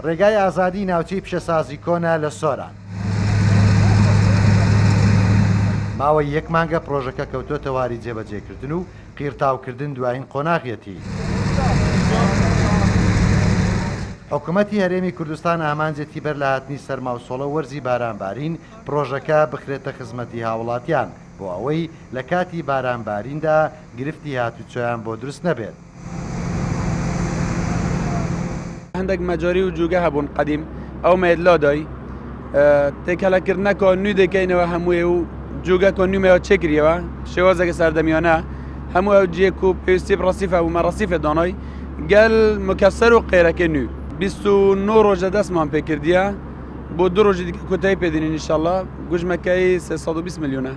ڕێگای ئازادی ناوچەی پیشەسازی کۆنە لە سۆران. ماوەی یەک مانگە پڕۆژەکە کەوتۆتە واری جێبەجێکردن و قیڕتاوکردن دوایین قۆناغیەتی. حکومەتی هەرێمی کوردستان ئامانجێتی بەر لە هاتنی سەرماوسۆڵە و وەرزی بارانبارین پڕۆژەکە بخرێتە خزمەتی هاوڵاتیان بۆ ئەوەی لە کاتی بارانباریندا گرفتی هاتوچۆیان بۆ دروست نەبێت. هەندێک مەجاری و جوگە هەبوون قەدیم ئەو مەیت لادای تێکەلەکردنەکە نوێ دەکەینەوە هەمووی و جوگەکە نوێمەوە چێکریەوە شێوازێکە سەردەمیانە هەموو ئەو جێک و پێویستی ڕسیفە و مەڕسیفە دانای گەل مکەسەر و قێرەکە نوێ 29 ڕۆژە دەستمان پێکردیە بۆ دوو ڕۆژی دیکە کۆتایی پێدێنین ئینشاڵڵا گوژمەکەی 320 ملیۆنە.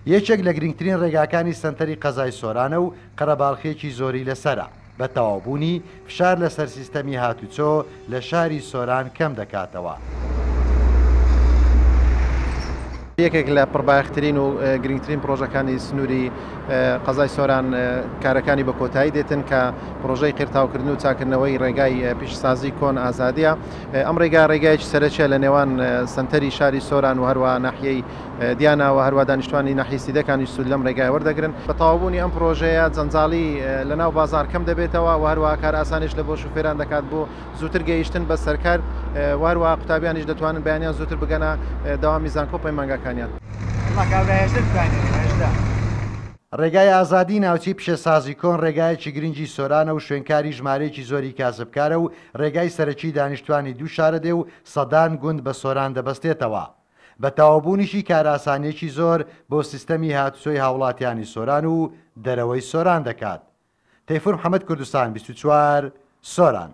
یەکێک لە گرنگترین ڕێگاکانی سەنتەری قەزای سۆرانە و قەرەباڵخییەکی زۆری لەسەرە، بە تەواوبوونی، فشار لەسەر سیستەمی هاتوچۆ لە شاری سۆران کەم دەکاتەوە. یەکێک لە پڕبایەخترین و گرنگترین پڕۆژەکانی سنووری قەزای سۆران کارەکانی بە کۆتایی دێتن کە پڕۆژەی قیرتاوکردن و چاکردنەوەی ڕێگای پیشەسازی کۆن ئازادیە. ئەم ڕێگا ڕێگایەکی سەرەکیە لە نێوان سەنتەری شاری سۆران و هەروە ناحیەی دیانا و هەروە دانیشتوانی ناحیەی سیدەکانیش سوود لەم ڕێگایە وەردەگرن. بە تەواوبوونی ئەم پڕۆژەیە جەنجاڵی لە ناو بازاڕ کەم دەبێتەوە و هەروەها کارئاسانیش لە بۆ شوفێران دەکات بۆ زووتر گەیشتن بە سەرکار و هەروەها قوتابیانیش دەتوانن بەیانیان زووتر بگەنە دەوامی زانکۆ و پەیمانگاکانیان. ڕێگای ئازادی ناوچەی پیشەسازی کۆن ڕێگایەکی گرنگی سۆرانە و شوێنکاری ژمارەیەکی زۆری کاسبکارە و ڕێگای سەرەکی دانیشتوانی دوو شارەدێ و سەدان گوند بە سۆران دەبەستێتەوە. بە تەواوبوونیشی کارئاسانییەکی زۆر بۆ سیستەمی هاتوچۆی هاوڵاتیانی سۆران و دەرەوەی سۆران دەکات. تەیفور محەمەد کوردستان 24، سۆران.